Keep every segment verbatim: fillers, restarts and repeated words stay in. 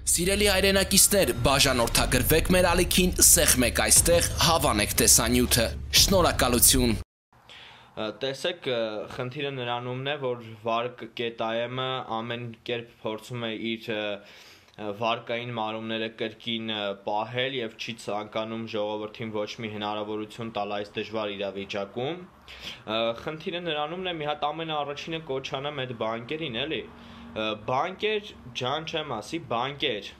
Սիրելի հայրենակիցներ, բաժանորդագրվեք մեր ալիքին, սեղմեք այստեղ, հավանեք տեսանյութը։ Շնորհակալություն։ Տեսեք, խնդիրը նրանումն է, որ վարկ կետայեմը ամեն կերպ փորձում է իր վարկային մարումները կրկին պահել եւ չի ցանկանում ժողովրդին ոչ մի հնարավորություն տալ այս դժվար իրավիճակում։ Խնդիրը նրանումն է, մի հատ ամենաառաջինը կոչանեմ այդ բանկերին, էլի։ Բանկեր, ջան չեմ ասի, բանկեր։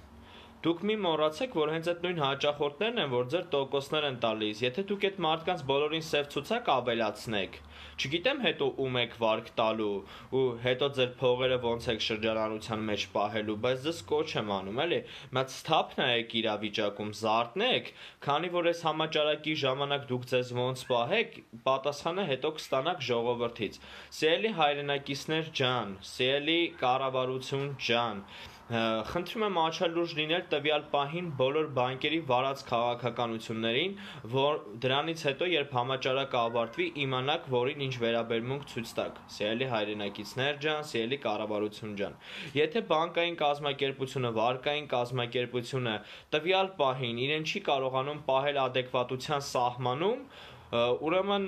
Դուք մի մոռացեք, որ հենց այդ նույն հաճախորդներն են, որ ձեր տոկոսներ են տալիս։ Եթե դուք այդ մարդկանց բոլորին սև ցուցակ ավելացնեք, չգիտեմ հետո ում եք վարկ տալու ու հետո ձեր փողերը ոնց եք շրջանառության մեջ պահելու, բայց դες կոչ եմ անում, էլի։ Մած սթափ նայեք իրավիճակում, զարթնեք, քանի որ այս համաճարակի ժամանակ դուք ձեզ ոնց պահեք, պատասխանը հետո կստանաք ժողովրդից։ Սիրելի հայրենակիցներ ջան, սիրելի կառավարություն ջան, խնդրում եմ աչալուրջ լինել տվյալ պահին բոլոր բանկերի վարած քաղաքականություններին, որ դրանից հետո երբ համաճարակը ավարտվի, իմանաք, որին ինչ վերաբերմունք ցույց տաք։ Սիրելի հայրենակիցներ ջան, սիրելի կառավարություն ջան։ Եթե բանկային կազմակերպությունը, վարկային կազմակերպությունը տվյալ պահին իրեն չի կարողանում պահել ադեկվատության սահմանում, ուրեմն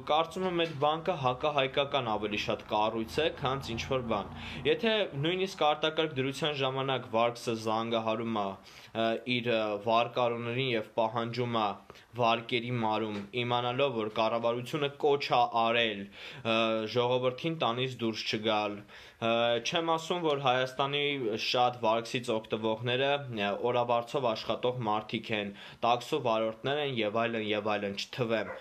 կարծում եմ այդ բանկը հակահայկական ավելի շատ կառույց է, քան ինչ-որ բան։ Եթե նույնիսկ արտակարգ դրության ժամանակ վարկսը զանգահարում է իր վարկառուներին եւ պահանջում է վարկերի մարում, իմանալով, որ կառավարությունը կոչ է արել ժողովրդին տանից դուրս չգալ, չեմ ասում, որ Հայաստանի շատ վարկսից օգտվողները օրավարձով աշխատող մարդիկ են, տաքսո վարորդներ են եւ այլն եւ այլն, չթվեմ։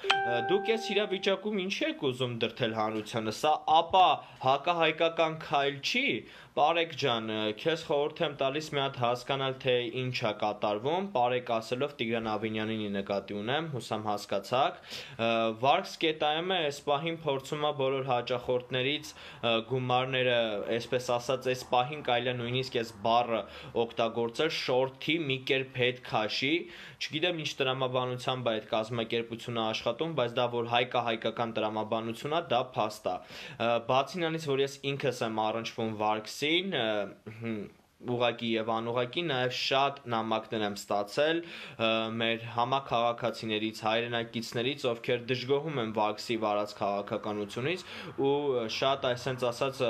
Դուք այս իրավիճակում ինչի եք ուզում դրթել հանրությանը, սա ապա հակահայկական քայլ չի։ Բարեկ ջան, քեզ խորհուրդ եմ տալիս մի հատ հասկանալ, թե ինչ է կատարվում, բարեկ ասելով Տիգրան Ավինյանին նկատի ունեմ, հուսամ հասկացաք։ Վարկս կետայեմը այս պահին փորձում է բոլոր հաճախորդներից գումարները, այսպես ասած, այս պահին կարելի է նույնիսկ այս բառը օգտագործել շորթի մի կերպ հետ քաշի, չգիտեմ ինչ տրամաբանությամբ է այդ կազմակերպությունը աշխատում, բայց դա որ հայկահայկական տրամաբանություն է, դա փաստ է։ Բացի նրանից, որ ես ինքս եմ առնչվում վարկսին, ուղղակի եւ անուղղակի նաեւ շատ նամակներ եմ ստացել մեր համաքաղաքացիներից, հայրենակիցներից, ովքեր դժգոհում են վարկսի վարած քաղաքականությունից ու շատ այսպես ասած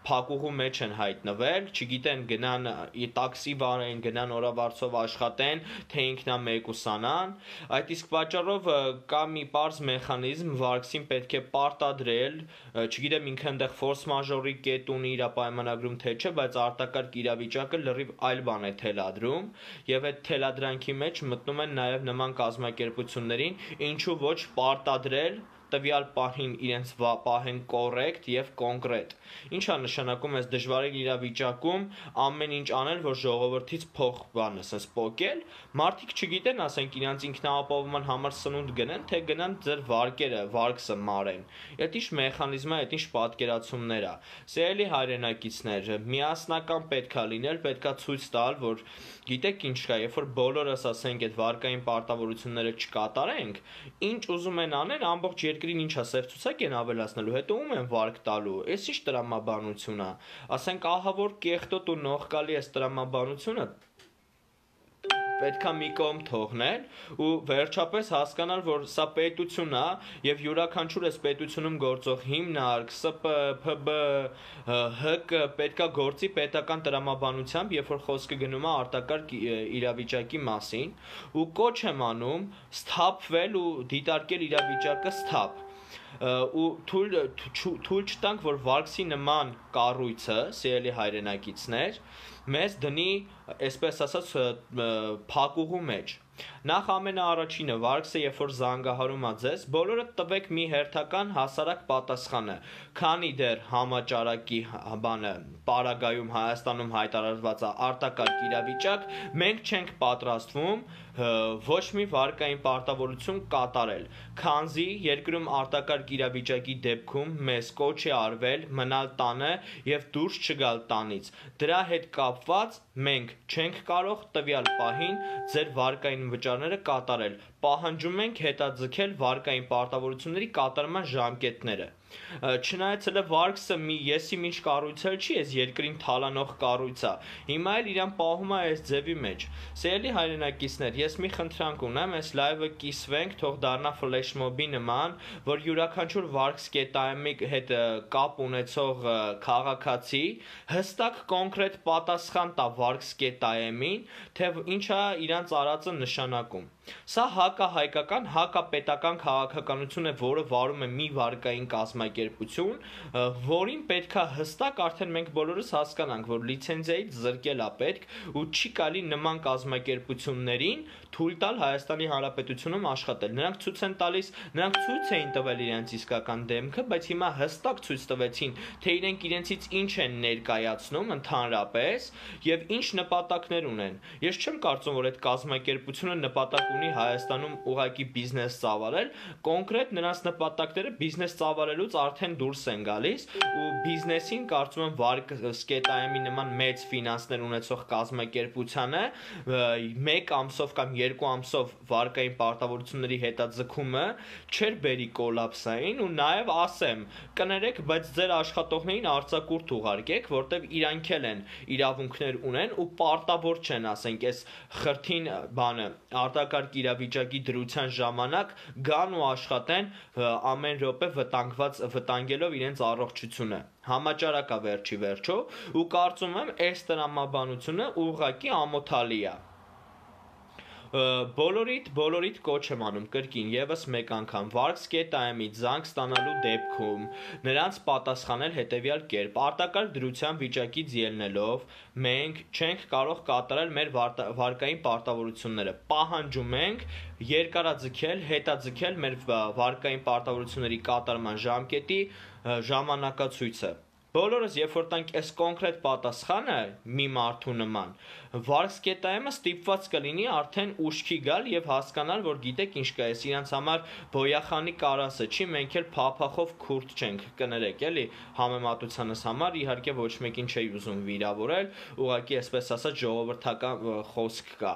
փակուղու մեջ են հայտնվել, չգիտեն գնան տաքսի վարեն, գնան օրավարձով աշխատեն, թե ինքնամեկուսանան։ Այդ իսկ պատճառով կա մի պարզ մեխանիզմ, վարկսին պետք է պարտադրել, չգիտեմ ինքը այնտեղ ֆորս մաժորի կետ ունի իր պայմանագրում թե չէ, բայց արտակարգ իրավիճակը լրիվ այլ բան է թելադրում, եւ այդ թելադրանքի մեջ մտնում են նաեւ նման կազմակերպություններին, ինչու ոչ պարտադրել տվյալ պահին իրենց պահեն կոռեկտ եւ կոնկրետ։ Ինչա նշանակում այս դժվարին իրավիճակում ամեն ինչ անել, որ ժողովրդից փող բանը, ասես պոկել, մարդիկ չգիտեն, ասենք իրանց ինքնաապահովման համար սնունդ գնեն, թե գնան ձեր վարկերը, վարկսը մարեն։ Այդ ինչ մեխանիզմ է, այդ ինչ պատկերացումներ է։ Սիրելի հայրենակիցներ, միասնական պետքա լինել, պետքա ցույց տալ, որ գիտեք ինչ կա, երբ որ բոլորս ասենք այդ վարկային պարտավորությունները չկատարենք, ինչ ուզում են անել, ամբողջ երկրին ինչա սև ցուցակ են ավելացնելու, հետո ում են վարկ տալու, այս ինչ տրամաբանություն է, ասենք ահա որ կեղտոտ ու նողկալի այս տրամաբանությունը պետքա մի կողմ թողնել ու վերջապես հասկանալ, որ սա պետություն է եւ յուրաքանչյուր այս պետությունում գործող հիմնարկ, ՍՊ, ՓԲ, ՀԿ պետքա գործի պետական տրամաբանությամբ, երբ որ խոսքը գնում է արտակարգ իրավիճակի մասին, ու կոչ եմ անում սթափվել ու դիտարկել իրավիճակը սթափ ու թույլ չտանք, որ վարկսի նման կառույցը, սիրելի հայրենակիցներ, մեզ դնի, այսպես ասած, փակուղու մեջ։ Նախ ամենաառաջինը վարկսը երբ որ զանգահարում է ձեզ, բոլորը տվեք մի հերթական հասարակ պատասխանը, քանի դեռ համաճարակի բանը պարագայում Հայաստանում հայտարարված է արտակարգ իրավիճակ, մենք չենք պատրաստվում ոչ մի վարկային պարտավորություն կատարել, քանզի երկրում արտակարգ իրավիճակի դեպքում մեզ կոչ է արվել մնալ տանը եւ դուրս չգալ տանից։ Դրա հետ կապված մենք չենք կարող տվյալ պահին ձեր վարկային վճարները կատարել։ պահանջում ենք հետաձգել վարկային պարտավորությունների կատարման ժամկետները։ Չնայած հələ վարկսը մի եսի ինչ կառույց չի, այս երկրին թալանող կառույց է։ Հիմա էլ իրան պահում է այս ձևի մեջ։ Սիրելի հայրենակիցներ, ես մի խնդրանք ունեմ, այս լայվը կիսվենք, թող դառնա ֆլեշմոբի նման, որ յուրաքանչյուր վարկսկետայմի հետ կապ ունեցող քաղաքացի հստակ կոնկրետ պատասխան տա վարկսկետայմին, թե ինչա իրանց արածը նշանակում։ Սա հակահայկական, հակապետական քաղաքականություն է, որը վարում է մի վարկային կազմակերպություն, որին պետքա հստակ արդեն մենք բոլորս հասկանանք, որ լիցենզիայից զրկել է պետք ու չի կարելի նման կազմակերպություններին թույլ տալ Հայաստանի Հանրապետությունում աշխատել։ Նրանք ցույց են տալիս, նրանք ցույց էին տվել իրենց իսկական դեմքը, բայց հիմա հստակ ցույց տվեցին, թե իրենք իրենցից ինչ են ներկայացնում ընդհանրապես եւ ինչ նպատակներ ունեն։ Ես չեմ կարծում, որ այդ կազմակերպությունը նպատակ ունի Հայաստանում ուղղակի բիզնես ծավալել, կոնկրետ նրանց նպատակները բիզնես ծավալելուց արդեն դուրս են գալիս ու բիզնեսին կարծում եմ վարկսկետայմի նման մեծ ֆինանսներ ունեցող կազմակերպությանը մեկ ամսով կամ երկու ամսով վարկային պարտավորությունների հետաձգումը չէր բերի կոլապսային ու նաև ասեմ, կներեք, բայց ձեր աշխատողներին արձակուրդ ուղարկեք, որտեվ իրանք էլ են իրավունքներ ունեն ու պարտավոր չեն, ասենք, այս խրթին բանը արտակարգ իրավիճակի դրության ժամանակ գան ու աշխատեն ամեն րոպե վտանգված վտանգելով իրենց առողջությունը։ Համաճարակ է վերջի վերջո ու կարծում եմ այս տրամաբանությունը ուղղակի ամոթալի է։ Բոլորիդ, բոլորիդ կոչ եմ անում կրկին եւս մեկ անգամ վարկսկետայմից զանգ ստանալու դեպքում նրանց պատասխանել հետեւյալ կերպ. արտակարգ դրության վիճակից ելնելով մենք չենք կարող կատարել մեր վարկային պարտավորությունները, պահանջում ենք երկարաձգել, հետաձգել մեր վարկային պարտավորությունների կատարման ժամկետի ժամանակացույցը։ Բոլորս երբ որ տանք այս կոնկրետ պատասխանը մի մարդու նման, վարկսկետայմը ստիպված կլինի արդեն ուշքի գալ եւ հասկանալ, որ գիտեք ինչ կա, այս իրանց համար բոյախանի կարասը չի, մենք էլ փափախով քուրդ չենք, կներեք, էլի, համեմատությանս համար իհարկե ոչ մեկին չի ուզում վիրավորել, ուղղակի այսպես ասած ժողովրդական խոսք կա։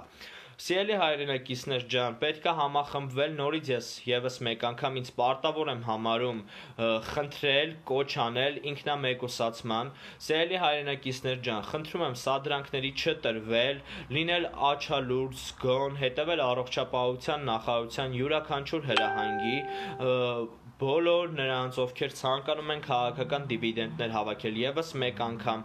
Սիրելի հայրենակիցներ ջան, պետք է համախմբվել, նորից ես եւս մեկ անգամ ինձ պարտավոր եմ համարում խնդրել, կոչ անել ինքնամեկուսացման։ Սիրելի հայրենակիցներ ջան, խնդրում եմ սադրանքների չտրվել, լինել աչալուրջ, զգոն, հետևել առողջապահության նախարարության յուրաքանչյուր հրահանգի, բոլոր նրանց, ովքեր ցանկանում են քաղաքական դիվիդենտներ հավաքել, եւս մեկ անգամ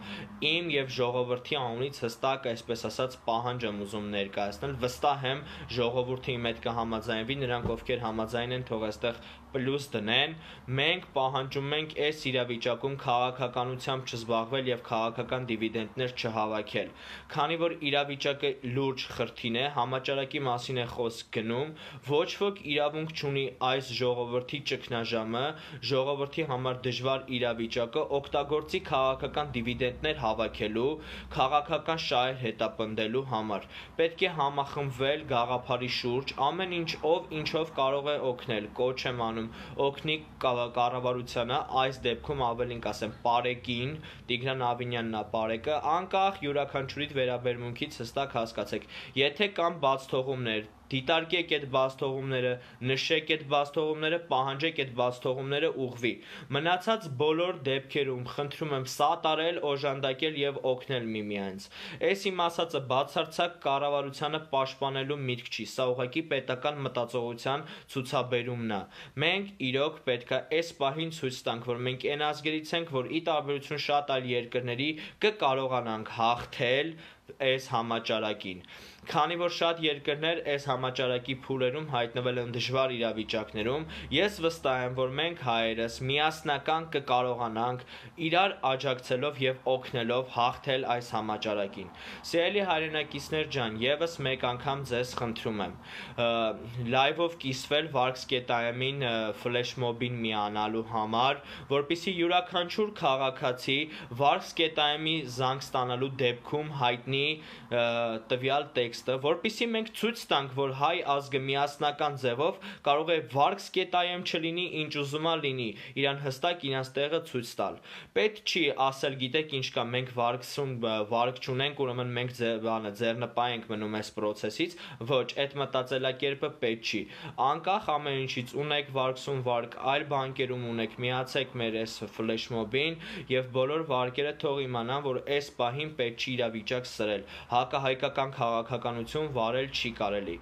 իմ եւ ժողովրդի անունից հստակ, այսպես ասած, պահանջ եմ ուզում ներկայացնել, վստահ եմ ժողովուրդը իմ հետ կհամաձայնվի, նրանք ովքեր համաձայն են, թող այստեղ պլյուս դնեն, մենք պահանջում ենք այս իրավիճակում քաղաքականությամբ չզբաղվել եւ քաղաքական դիվիդենտներ չհավաքել։ Քանի որ իրավիճակը լուրջ խրթին է, համաճարակի մասին է խոսք գնում, ոչ ոք իրավունք չունի այս ժողովրդի ճգնաժամը, ժողովրդի համար դժվար իրավիճակը օգտագործի քաղաքական դիվիդենտներ հավաքելու, քաղաքական շահեր հետապնդելու համար։ Պետք է համախմբվել գաղափարի շուրջ, ամեն ինչ ով ինչով կարող է օգնել, կոչ եմ անում օգնի կառավարությանը, այս դեպքում ավելին կասեմ Պարեկին, Տիգրան Ավինյանն է Պարեկը, անկախ յուրաքանչյուրիդ վերաբերմունքից հստակ հասկացեք, եթե կան բացթողումներ, դիտարկեք այդ բացթողումները, նշեք այդ բացթողումները, պահանջեք այդ բացթողումները ուղղվի։ Մնացած բոլոր դեպքերում խնդրում եմ սատարել, օժանդակել եւ օգնել միմյանց։ Այս իմ ասածը բացարձակ կառավարությանը պաշտպանելու միտք չի, սա ուղղակի պետական մտածողության ցուցաբերումն է։ Մենք իրոք պետքա այս պահին ցույց տանք, որ մենք այն ազգերից ենք, որ ի տարբերություն շատ այլ երկրների կկարողանանք հաղթել այս համաճարակին։ Քանի որ շատ երկրներ այս համաճարակի փուլերում հայտնվել են դժվար իրավիճակներում, ես վստահ եմ, որ մենք հայերս միասնական կկարողանանք իրար աջակցելով եւ օգնելով հաղթել այս համաճարակին։ Սիրելի հայրենակիցներ ջան, եւս մեկ անգամ ձեզ խնդրում եմ լայվով կիսվել վարկսկետայմին ֆլեշմոբին միանալու համար, որպեսզի յուրաքանչյուր քաղաքացի վարկսկետայմի զանգ ստանալու դեպքում հայտնի լինի տվյալ տեքստը, որպեսզի մենք ցույց տանք, որ հայ ազգը միասնական ձևով կարող է վարք սկետայեմ չլինի, ինչ ուզում է լինի, իրան հստակ իրանց տեղը ցույց տալ։ Պետք չի ասել, գիտեք ինչ կա, մենք վարկսուն վարկ չունենք, ուրեմն մենք բանը ձեռնպահ ենք մնում այս process-ից, ոչ, այդ մտածելակերպը պետք չի։ Անկախ ամեն ինչից ունեք վարկսուն վարկ, այլ բանկերում ունեք, միացեք մեր այս flash mob-ին եւ բոլոր վարկերը թող իմանան, որ այս պահին պետք չի իրավիճակ սրել։ Հակահայկական քաղաքականություն վարել չի կարելի։